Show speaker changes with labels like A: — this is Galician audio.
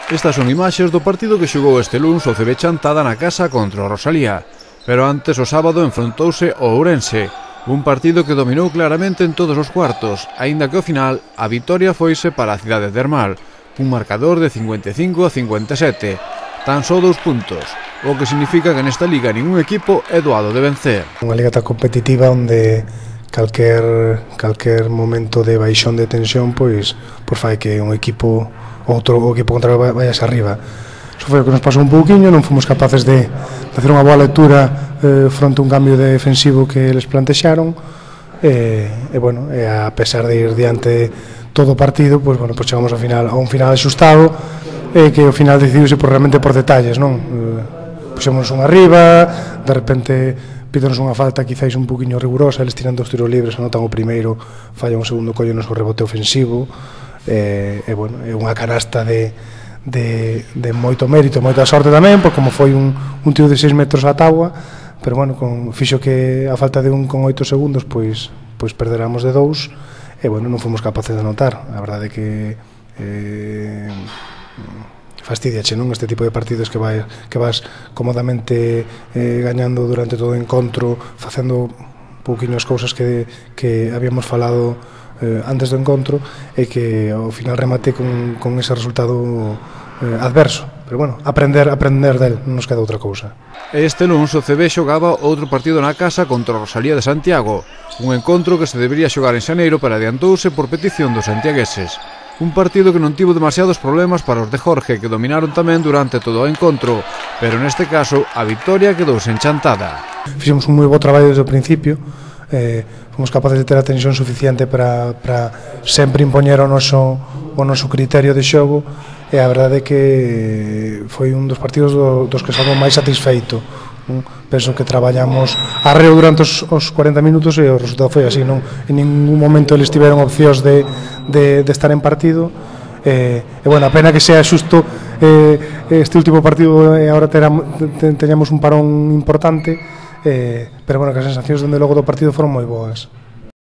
A: Estas son imaxes do partido que xogou este luns o CB Chantada na casa contra o Rosalía. Pero antes o sábado enfrontouse o Ourense, un partido que dominou claramente en todos os cuartos, aínda que ao final a vitoria foise para a cidade termal, un marcador de 55-57, tan só 2 puntos, o que significa que nesta liga ningún equipo é doado de vencer.
B: Unha liga tan competitiva onde calquer momento de baixón de tensión pois fai que un equipo o equipo contrario vayase arriba. Iso foi o que nos pasou un pouquiño, non fomos capaces de hacer unha boa lectura fronte a un cambio defensivo que eles plantexaron e a pesar de ir diante todo o partido, pois chegamos a un final axustado e que ao final decidiuse realmente por detalles, non? Puxémonos un arriba, de repente pídonos unha falta quizáis un poquinho rigurosa, eles tiran 2 tiros libres, anotan o primeiro, fallan o segundo, collenos o rebote ofensivo é unha canasta de moito mérito, moita sorte tamén, porque como foi un tiro de 6 metros á táboa, pero fixo que a falta de 1,8 segundos pois perderamos de 2 e non fomos capaces de anotar. A verdade é que fastidiache, non? Este tipo de partidos que vas cómodamente gañando durante todo o encontro, facendo pouquiño as cousas que habíamos falado antes do encontro e que ao final remate con ese resultado adverso, pero aprender del, non nos queda outra cousa.
A: Este luns o CB xogaba outro partido na casa contra o Rosalía de Santiago, un encontro que se debería xogar en xaneiro pero adiantouse por petición dos santiagueses. Un partido que non tivo demasiados problemas para os de Jorge, que dominaron tamén durante todo o encontro, pero neste caso a vitoria quedouse en Chantada.
B: Fixemos un moi bo traballo desde o principio, fomos capaces de ter a tensión suficiente para sempre impoñer o noso criterio de xogo e a verdade é que foi un dos partidos dos que salgo máis satisfeito. Penso que traballamos arreo durante os 40 minutos e o resultado foi así, non? En ningún momento eles tiveron opcións de estar en partido a pena que sea xusto este último partido e agora teñamos un parón importante pero que as sensacións dende logo do partido foron moi boas.